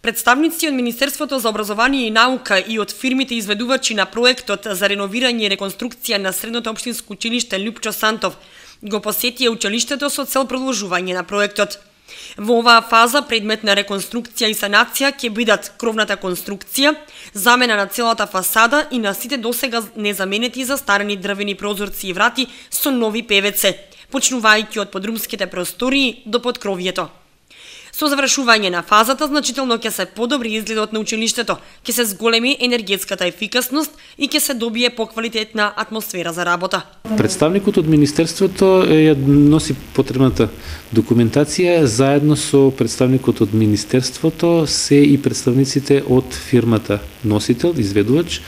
Представници од Министерството за образование и наука и од фирмите изведувачи на проектот за реновирање и реконструкција на Средното општинско училиште Лјупчо Сантов го посетија училиштето со цел продолжување на проектот. Во оваа фаза предмет на реконструкција и санација ќе бидат кровната конструкција, замена на целата фасада и на сите досега незаменети застарени дрвени прозорци и врати со нови ПВЦ, почнувајќи од подрумските простории до подкровјето. Со завршување на фазата значително ќе се подобри изгледот на училиштето, ќе се зголеми енергетската ефикасност и ќе се добие поквалитетна атмосфера за работа. Представникот од Министерството ја носи потребната документација, заедно со представникот од Министерството се и представниците од фирмата носител, изведувач.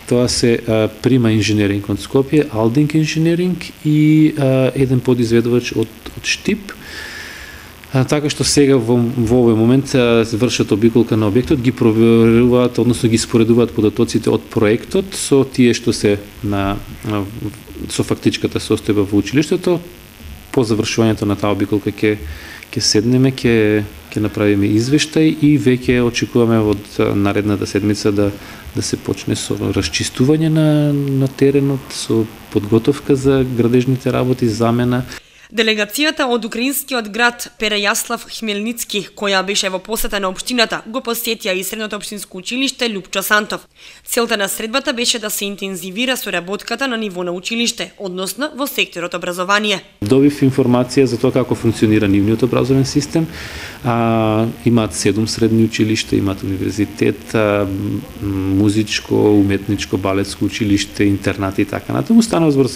Тоа се Прима инженеринг од Скопје, Алдинг инженеринг и еден подизведувач од Штип. Така што сега во овој момент вршат обиколка на објектот, ги проверуваат, односно ги споредуваат податоците од проектот со тие што се со фактичката состојба во училиштето. По завршувањето на таа обиколка ќе седнеме, ќе направиме извештај и веќе очекуваме од наредната седмица да се почне со расчистување на теренот, со подготовка за градежните работи, замена. Делегацијата од украинскиот град Перејаслав Хмелницки, која беше во посета на општината, го посетија и Средното општинско училиште Лјупчо Сантов. Целта на средбата беше да се интензивира соработката на ниво на училиште, односно во секторот образование. Добив информација за тоа како функционира нивниот образовен систем. Имаат 7 средни училишта, имаат универзитет, музичко, уметничко, балетско училиште, интернати и така натаму. Станува збор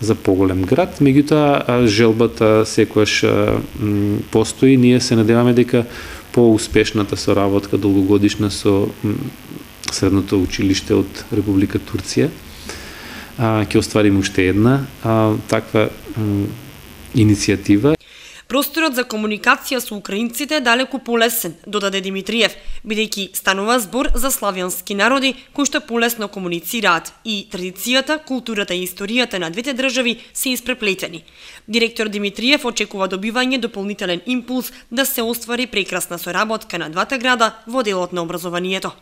за поголем град, меѓутоа желбата секогаш постои. Ние се надеваме дека по-успешната соработка долгогодишна со Средното училиште од Република Турција ќе оствариме уште една таква иницијатива. Просторот за комуникација со украинците е далеку полесен, додаде Димитриев, бидејќи станува збор за славјански народи кои што полесно комуницираат и традицијата, културата и историјата на двете држави се испреплетени. Директор Димитриев очекува добивање дополнителен импулс да се оствари прекрасна соработка на двата града во делот на образованието.